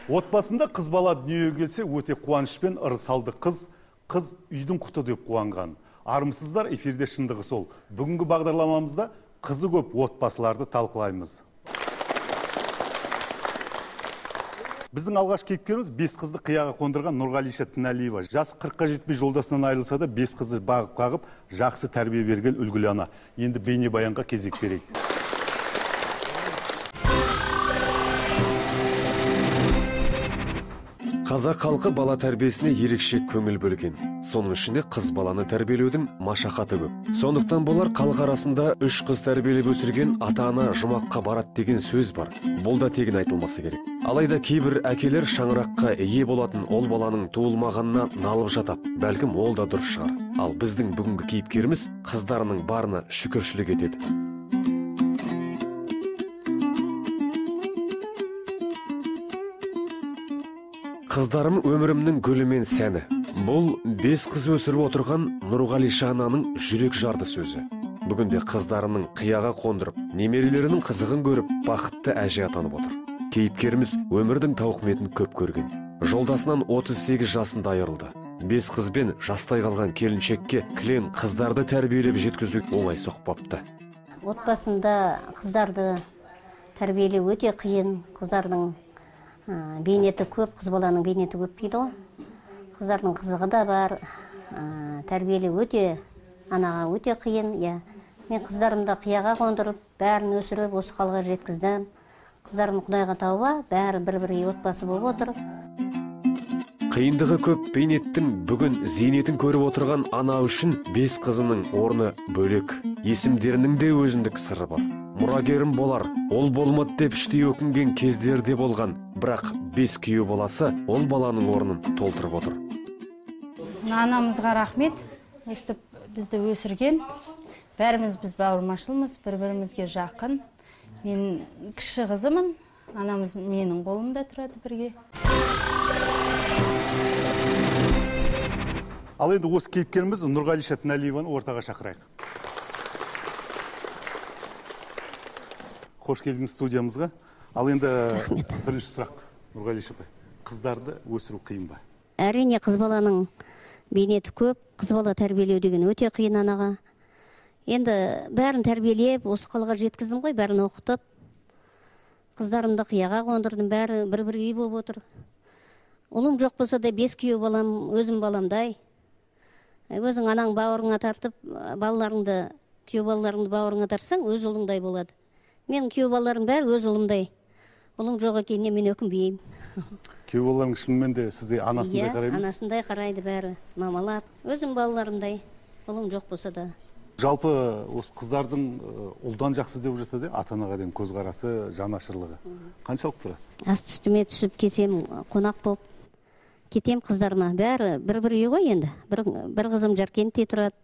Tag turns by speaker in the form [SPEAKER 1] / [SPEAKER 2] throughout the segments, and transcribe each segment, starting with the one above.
[SPEAKER 1] Отбасында қыз бала дүниеге келсе өте қуанышпен ырысалды қыз үйдің құты деп қуанған. Армысыздар, эфирде шындығы сол. Бүгінгі бағдарламамызда қызы көп отбасыларды талқылаймыз. Біздің алғаш кейіпкеріміз 5 қызды қияға қондырған Нұрғалиша Тіналиева. Жасы 40-қа жетпей жолдасынан айырылса да 5 қызды бағып қағып, жақсы тәрбие берген үлгілі ана. Енді бейнебаянға кезек берейік.
[SPEAKER 2] Қазақ халқы бала тәрбиесіне ерекше көңіл бөлген. Соның ішінде қыз баланы тәрбиелеудің машақаты көп. Сондықтан болар халық арасында 3 қыз тәрбиелеп өсірген ата-ана жұмаққа барады деген сөз бар. Бұл да тегін айтылмасы керек. Алайда кейбір әкелер шаңыраққа ие болатын ол баланың туылмағанына налып жатады. Бәлкім ол да дұрыс шығар. Ал біздің бүгінгі кейіпкеріміз қыздарының барына шүкіршілік етеді. Қыздарым өмірімнің гүлі мен сәні. Бұл 5 қыз өсіріп отырған Нұрғалиша ананың жүрек жарды сөзі. Бүгінде қыздарының қияға қондырып, немерелерінің қызығын көріп, бақытты әже атанып отыр. Кейіпкеріміз өмірдің тауқыметін көп көрген. Жолдасынан 38 жасында айырылды. 5 қызбен жастай қалған келіншекке кілең қыздарды тәрбиелеп жеткізу оңай соқпапты.
[SPEAKER 3] Отбасында қыздарды тәрбиелеу өте қиын. Қыздардың бейнеті көп, қыз баланың бейнеті көп дейді ғой. Қыздардың қызығы да бар, тәрбиелеу анаға өте қиын. Мен қыздарымды қияға қондырып, бәрін өсіріп, осы қалға жеткіздім. Қыздарым Құдайға тауба, бәрі бір-бірге отбасы болып отыр.
[SPEAKER 2] Қиындығы көп бейнеттің бүгін зейнетін көріп отырған ана үшін 5 қызының орны бөлек. Есімдерінің де өзіндік сыры бар. Мұрагерім болар, ол болмады деп іштей өкінген кездерде болған. Бірақ 5 күйеу баласы ол баланың орнын толтырып отыр.
[SPEAKER 4] Анамызға рахмет, өстіп бізді өсірген. Бәріміз біз бауырмашылмыз, бір-бірімізге жақын. Мен кіші қызымын, анамыз менің қолымда тұрады бірге.
[SPEAKER 1] Ал енді осы кейіпкеріміз Нұрғалиша Тіналиеваны ортаға шақырайық. Қош келдіңіз студиямызға. Ал енді бірінші сұрақ, Нұрғалиша апай, қыздарды өсіру қиын ба?
[SPEAKER 3] Әрине, қыз баланың бейнеті көп, қыз бала тәрбиелеу деген өте қиын анаға. Енді бәрін тәрбиелеп, осы қалаға жеткіздім ғой, бәрін оқытып. Қыздарымды қияға қондырдым, бәрі бір-бір үй болып отыр. Ұлым жоқ болса да 5 күйеу балам, өзім баламдай. Өзің анаң бауырыңа тартып, балаларыңды, күйеу балаларыңды бауырыңа тартсаң, өз ұлыңдай болады. Мен күйеу балаларым бәрі өз ұлымдай. Ұлым жоқ екеніне мен өкінбеймін.
[SPEAKER 1] Күйеу балаларың шынымен де сізде анасындай қарайды ма?
[SPEAKER 3] Анасындай қарайды бәрі, мамалап. Өзім балаларымдай, ұлым жоқ болса да.
[SPEAKER 1] Жалпы осы қыздардың ұлдан жақсы деп жатады, ата-анаға деген көзқарасы, жанашырлығы. Қаншалық тұрасыз?
[SPEAKER 3] Асты үстіме түсіп кетсем, қонақ болып кетем қыздарыма. Бәрі бір-бір үй ғой енді. Бір қызым Жаркентте тұрады,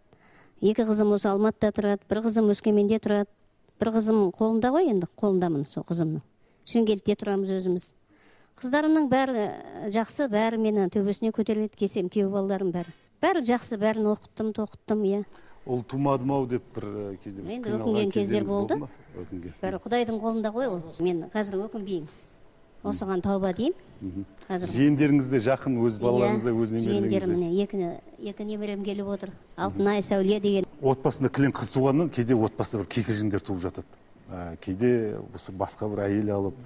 [SPEAKER 3] 2 қызым осы Алматыда тұрады, 1 қызым Өскеменде тұрады. 1 қызым қолында ғой енді, қолындамын сол қызымның. Шымкентте тұрамыз өзіміз. Қыздарымның бәрі жақсы, бәрі мені төбесіне көтеріледі, кесем, күйеу балаларым бәрі. Бәрі жақсы, бәрін оқыттым, иә.
[SPEAKER 1] Ол тумадым ау деп бір кейде
[SPEAKER 3] енді өкінген кездер болды. Бәрі Құдайдың қолында ғой ол. Мен қазір өкінбеймін. Осыған тауба деймін.
[SPEAKER 1] Жиендеріңізде жақын, өз балаларыңызда өз немерелеріңізде?
[SPEAKER 3] Жиендерім, 2 немерем келіп отыр. Алтынай, Сәуле деген.
[SPEAKER 1] Отбасында кілең қыз туғаннан кейде отбасында бір кикілжіңдер туып жатады. Кейде басқа бір әйел алып,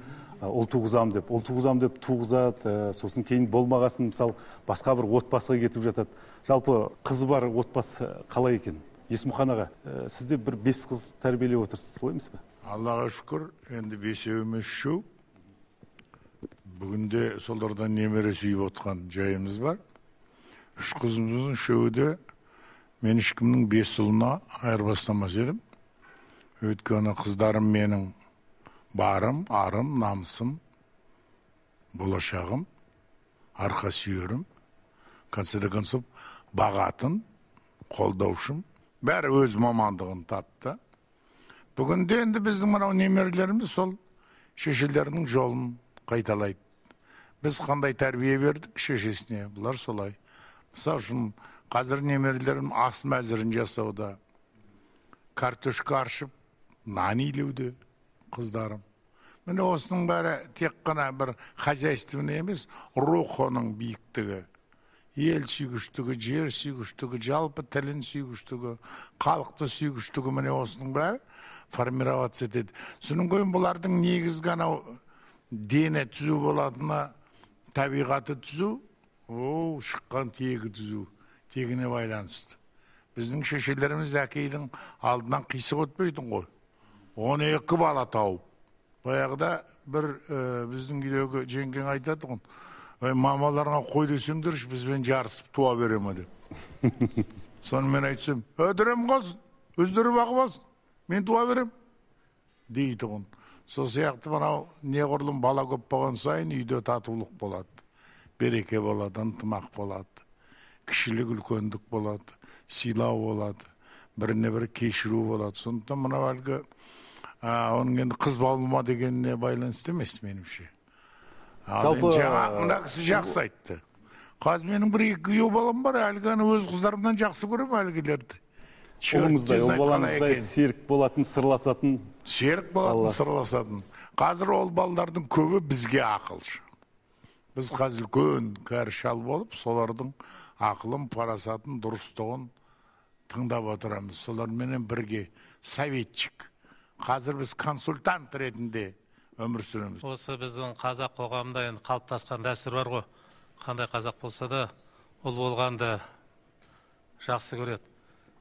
[SPEAKER 1] ұл туғызам деп туғызады, сосын кейін болмағасын, мысалы, басқа бір отбасыға кетіп жатады. Жалпы қызы бар отбасы қалай екен? Есмұхан аға, сізде бір 5 қыз тәрбиелеп отырсыз, солай емес пе?
[SPEAKER 5] Аллаға шүкір, енді 5-еуіміз үшеу. Бүгінде солардан немере сүйіп отқан жайымыз бар. 3 қызымыздың үшеуі де мен ешкімнің 5 ұлына айырбастамас едім. Өйткені қыздарым менің барым, арым, намысым, болашағым, арқа сүйерім, концерт бағатын, қолдаушым. Бәрі өз мамандығын тапты. Бүгінде енді біздің мынау немерелеріміз сол шешелерінің жолын қайталайды. Біз қандай тәрбие бердік шешесіне, бұлар солай. Мысалы үшін қазір немерелерім ас мәзірін жасауда, картошка аршып, нан илеуде қыздарым. Міне осының бәрі тек қана бір хозяйственный емес, рухының биіктігі, ел сүйгіштігі, жер сүйгіштігі, жалпы тілін сүйгіштігі, халықты сүйгіштігі, міне осының бәрі формироваться етеді. Соның кейін бұлардың негізгі анау дені түзу болатына, табиғаты түзу, шыққан тегі түзу, тегіне байланысты. Біздің шешелеріміз әкейдің алдынан қисық өтпейтін ғой. 12 бала тауып. Баяғыда бір біздің үйдегі жеңген айтады ғой, мамаларға қой десеңдерші, бізбен жарысып туа береме деп. Соны мен айтсам, өдірем қалсын, өздері бағып алсын, мен туа берем дейді ғой. Сол сияқты мынау неғұрлым бала көп болған сайын үйде татулық болады, береке болады, ынтымақ болады, кішілік үлкендік болады, сыйлау болады, біріне бірі кешіру болады. Сондықтан мынау әлгі оның енді қыз балыма дегеніне байланысты емес меніңше. Жаңа мына кісі жақсы айтты. Қазір менің бір екі күйеу балам бар, әлгіні өз қыздарымнан жақсы көрем әлгілерді.
[SPEAKER 1] Ұлыңыздай, ол балаңыздай серік болатын, сырласатын.
[SPEAKER 5] Серік болатын, сырласатын. Қазір ол балалардың көбі бізге ақылшы. Біз қазір үлкен кәрі шал болып, солардың ақылын, парасатын, дұрыстығын тыңдап отырамыз. Соларменен бірге советчик. Қазір біз консультант ретінде өмір сүреміз.
[SPEAKER 6] Осы біздің қазақ қоғамында енді қалыптасқан дәстүр бар ғой. Қандай қазақ болса да, ұл болғанды жақсы көреді.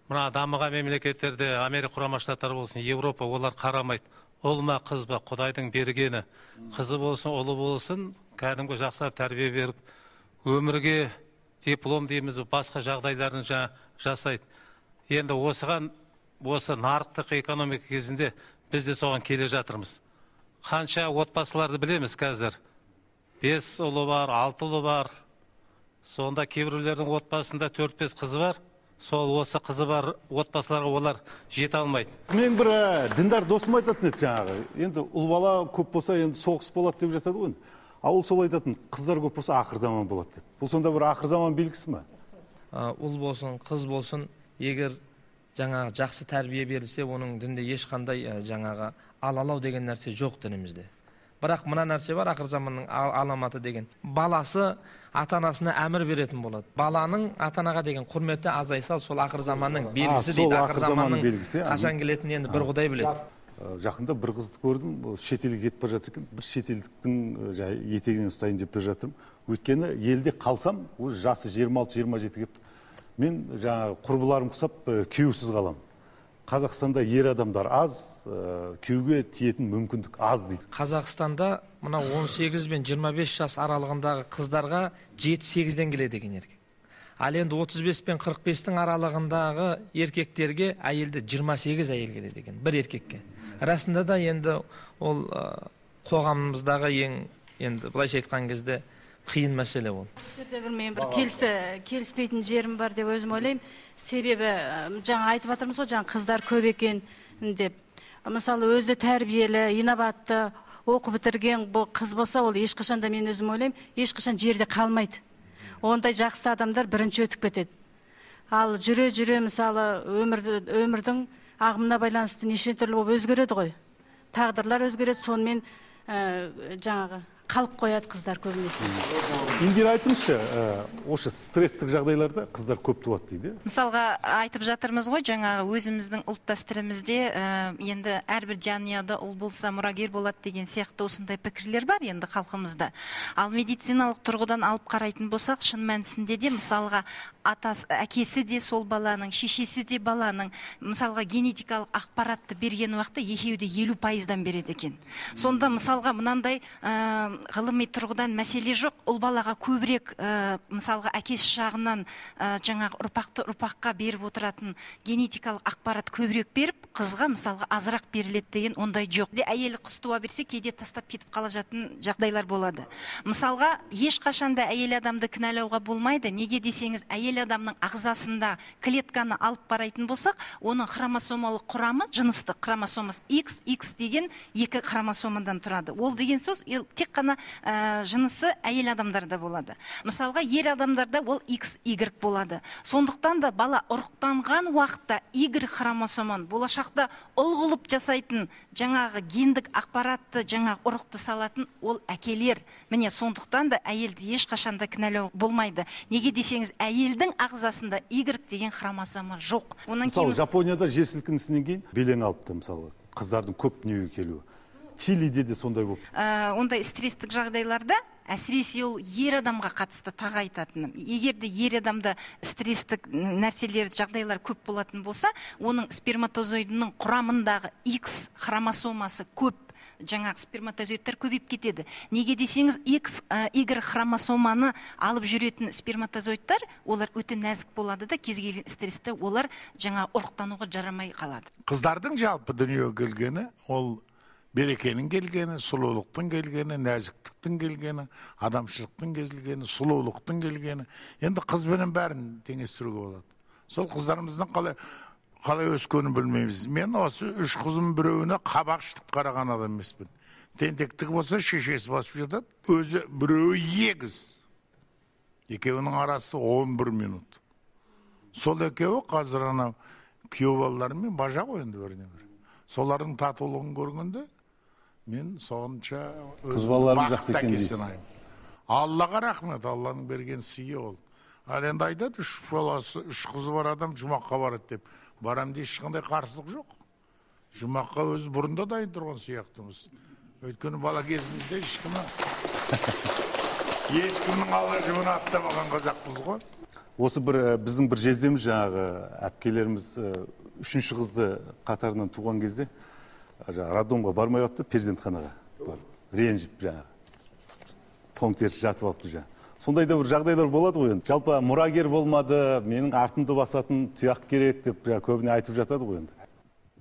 [SPEAKER 6] Мына дамыған мемлекеттерде, Америка құрама штаттары болсын, Европа, олар қарамайды. Ұл ма, қыз ба, Құдайдың бергені. Қызы болсын, ұлы болсын, кәдімгі жақсылап тәрбие беріп, өмірге диплом дейміз, басқа жағдайларын жасайды. Енді осы нарықтық экономика кезінде біз де соған келе жатырмыз. Қанша отбасыларды білеміз қазір. 5 ұлы бар, 6 ұлы бар. Сонда кейбіреулердің отбасында 4-5 қызы бар. Сол осы қызы бар отбасыларға олар жете алмайды.
[SPEAKER 1] Мен бір діндар досым айтатын еді жаңағы. Енді ұл бала көп болса, енді соғыс болады деп жатады ғой. Ол сол айтатын, қыздар көп болса ақыр заман болады деп. Бұл сонда бір ақыр заман белгісі ме?
[SPEAKER 7] Ұл болсын, қыз болсын, егер жаңағы жақсы тәрбие берілсе, оның дінде ешқандай жаңағы алалау деген нәрсе жоқ дінімізде. Бірақ мына нәрсе бар, ақыр заманның аламаты деген. Баласы ата-анасына әмір беретін болады. Баланың ата-анаға деген құрметі азайса, сол ақыр заманның белгісі дейді. Ақыр заманның қашан келетінін енді бір Құдай біледі.
[SPEAKER 1] Жақында бір қызды көрдім, шетелге кетіп бара жатыр екен. Бір шетелдіктің етегінен ұстайын деп бара жатырмын. Өйткені елде қалсам, өз жасы 26-27 кепті. Мен жаңағы құрбыларым құсап күйеусіз қалам. Қазақстанда ер адамдар аз, күйеуге тиетін мүмкіндік аз дейді.
[SPEAKER 7] Қазақстанда мына 18 бен 25 жас аралығындағы қыздарға 7-8-ден келеді екен еркек. Ал енді 35 пен 45-тің аралығындағы еркектерге әйелді 28 әйел келеді екен, бір еркекке. Расында да енді ол қоғамымыздағы енді былайша айтқан кезде қиын мәселе ол.
[SPEAKER 4] Мен бір келіспейтін жерім бар деп өзім ойлаймын. Себебі жаңа айтып жатырмыз ғой, жаңа қыздар көп екен деп. Мысалы өзі тәрбиелі, инабатты, оқу бітірген бұл қыз болса, ол ешқашан да мен өзім ойлаймын, ешқашан жерде қалмайды. Ондай жақсы адамдар бірінші өтіп кетеді. Ал жүре мысалы өмірдің ағымына байланысты неше түрлі болып өзгереді ғой. Тағдырлар өзгереді, сонымен жаңағы қалып қояды қыздар көбінесе.
[SPEAKER 1] Индира айтыңызшы, осы стресстік жағдайларда қыздар көп туады дейді.
[SPEAKER 8] Мысалға айтып жатырмыз ғой, жаңағы өзіміздің ұлт дәстүрімізде енді әрбір жанұяда ұл болса мұрагер болады деген сияқты осындай пікірлер бар енді халқымызда. Ал медициналық тұрғыдан алып қарайтын болсақ, шын мәнісінде де мысалға әкесі де сол баланың, шешесі де баланың мысалға генетикалық ақпаратты берген уақытта екеуі де 50%-дан береді екен. Сонда мысалға мынандай ғылыми тұрғыдан мәселе жоқ, ұл балаға көбірек мысалға әкесі жағынан жаңағы ұрпаққа беріп отыратын генетикалық ақпарат көбірек беріп, қызға мысалға азырақ беріледі деген ондай жоқ. Әйелі қыз туа берсе, кейде тастап кетіп қала жататын жағдайлар болады. Мысалға ешқашанда әйел адамды кінәлауға болмайды. Неге десеңіз, әйел адамның ағзасында клетканы алып қарайтын болсақ, оның хромосомалық құрамы, жыныстық хромосомасы XX деген 2 хромосомадан тұрады. Ол деген сөз тек қана ғана жынысы әйел адамдарда болады. Мысалға, ер адамдарда ол XY болады. Сондықтан да бала ұрықтанған уақытта Y хромосоман болашақта ұл қылып жасайтын жаңағы гендік ақпаратты жаңағы ұрықты салатын ол әкелер. Міне сондықтан да әйелді ешқашанда кінәлау болмайды. Неге десеңіз, әйелдің ағзасында Y деген хромосома жоқ.
[SPEAKER 1] Мысалы, Жапонияда жер сілкінісінен кейін белең алыпты, мысалы, қыздардың көп дүниеге келуі. Чилиде де сондай болып.
[SPEAKER 8] Ондай стресстік жағдайларда әсіресе ол ер адамға қатысты тағы айтатыным. Егер де ер адамда стресстік нәрселер, жағдайлар көп болатын болса, оның сперматозоидының құрамындағы X хромосомасы көп, жаңағы сперматозоидтар көбейіп кетеді. Неге десеңіз, Y хромосоманы алып жүретін сперматозоидтар, олар өте нәзік болады да, кез келген стрессте олар жаңа ұрықтануға жарамай қалады.
[SPEAKER 5] Қыздардың жалпы дүниеге келгені, ол берекенің келгені, сұлулықтың келгені, нәзіктіктің келгені, адамшылықтың келгені, сұлулықтың келгені. Енді қызбенен бәрін теңестіруге болады. Сол қыздарымыздың қалай өскенін білмейміз. Мен осы 3 қызым біреуіне қабақ шытып қараған адам емеспін. Тентектік болса шешесі басып жатады, өзі біреуі егіз. Екеуінің арасы 11 минут. Сол екеуі қазір ана күйеу балаларымен бажа қойынды біріне бір. Солардың татулығын көргенде мен сонша
[SPEAKER 1] қыз балаларын жақсы екен дейсіз.
[SPEAKER 5] Аллаға рахмет, Алланың берген сыйы ол. Ал енді айтады, 3 баласы, 3 қызы бар адам жұмаққа барады деп. Барам де ешқандай қарсылық жоқ. Жұмаққа өзі бұрында дайын тұрған сияқтымыз. Өйткені бала кезімізде ешкімнің алла жүгін аттамаған қазақпыз ғой.
[SPEAKER 1] Осы біздің бір жездеміз, жаңағы әпкелеріміз 3-ші қызды қатарынан туған кезде роддомға бармай қалыпты, перзентханаға ренжіп, жаңағы тоң теріс жатып алыпты жаңағы. Сондай да бір жағдайлар болады ғой енді. Жалпы мұрагер болмады, менің артымды басатын тұяқ керек деп көбіне айтып жатады ғой енді.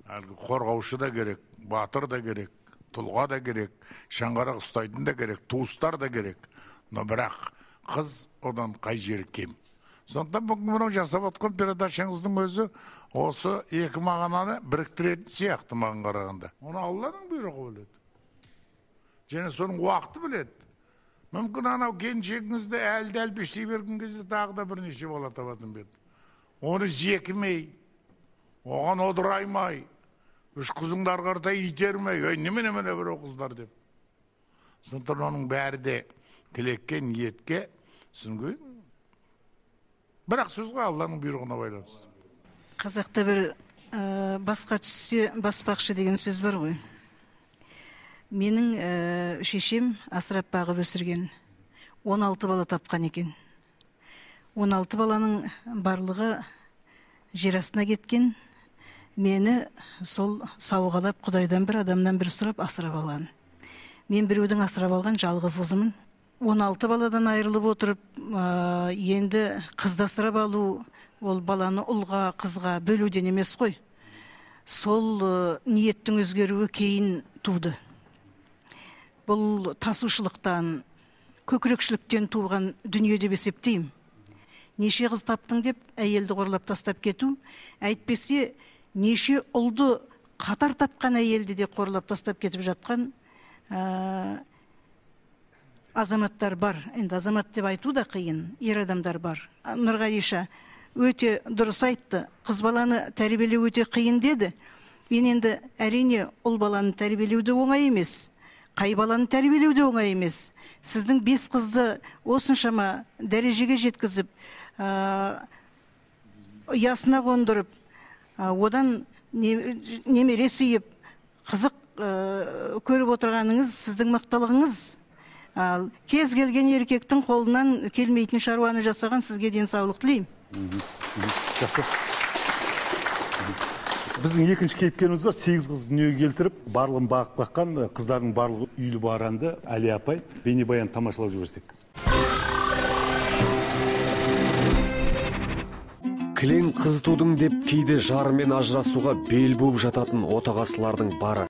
[SPEAKER 5] Әлгі қорғаушы да керек, батыр да керек, тұлға да керек, шаңғарақ ұстайтын да керек, туыстар да керек. Но бірақ қыз одан қай жері кем. Сондықтан бүгін мынау жасап отқан передачаңыздың өзі осы екі мағынаны біріктіретін сияқты маған қарағанда. Оны Алланың бұйрығы біледі. Және соның уақыты біледі. Мүмкін анау келіншегіңізді әлді әлпештей берген кезде тағы да бірнеше бала табатын беді. Оны зекімей, оған одыраймай, 3 қызыңды арқарта итермей, немене бір қыздар деп. Сондықтан оның бәрі де тілекке, ниетке сүнгөй. Бірақ сөзге Алланың бұйрығына байланысты.
[SPEAKER 9] Қазақта бір басқа түссе баспақшы деген сөз бар ғой. Менің шешем асырап бағып өсірген 16 бала тапқан екен. 16 баланың барлығы жер астына кеткен. Мені сол сауғалап Құдайдан бір адамнан бір сұрап асырап алған. Мен біреудің асырап алған жалғыз қызымын. 16 баладан айырылып отырып, енді қызды асырап алу, ол баланы ұлға, қызға бөлуден емес қой. Сол ниеттің өзгеруі кейін туды. Бұл тасушылықтан, көкірекшіліктен туған дүние деп есептеймін. Неше қыз таптың деп әйелді қорлап тастап кету, әйтпесе неше ұлды қатар тапқан әйелді де қорлап тастап кетіп жатқан азаматтар бар. Енді азамат деп айту да қиын, ер адамдар бар. Нұрғалиша өте дұрыс айтты. Қыз баланы тәрбиелеу өте қиын деді. Мен енді әрине ұл баланы тәрбиелеуді оңай емес. Қай баланы тәрбиелеуді оңай емес. Сіздің 5 қызды осыншама дәрежеге жеткізіп, ұясына қондырып, одан немере сүйіп, қызық көріп отырғаныңыз сіздің мықтылығыңыз. Кез келген еркектің қолынан келмейтін шаруаны жасаған сізге денсаулық тілеймін.
[SPEAKER 1] Жақсы. Біздің екінші кейіпкеріміз бар, 8 қыз дүниеге келтіріп, барлығын бағып қаққан, қыздардың барлығы үйлі баранды Әли апай бейнебаян тамашалап жіберсек.
[SPEAKER 2] Кілең қыз тудың деп кейде жарымен ажырасуға бел болып жататын отағасылардың бары.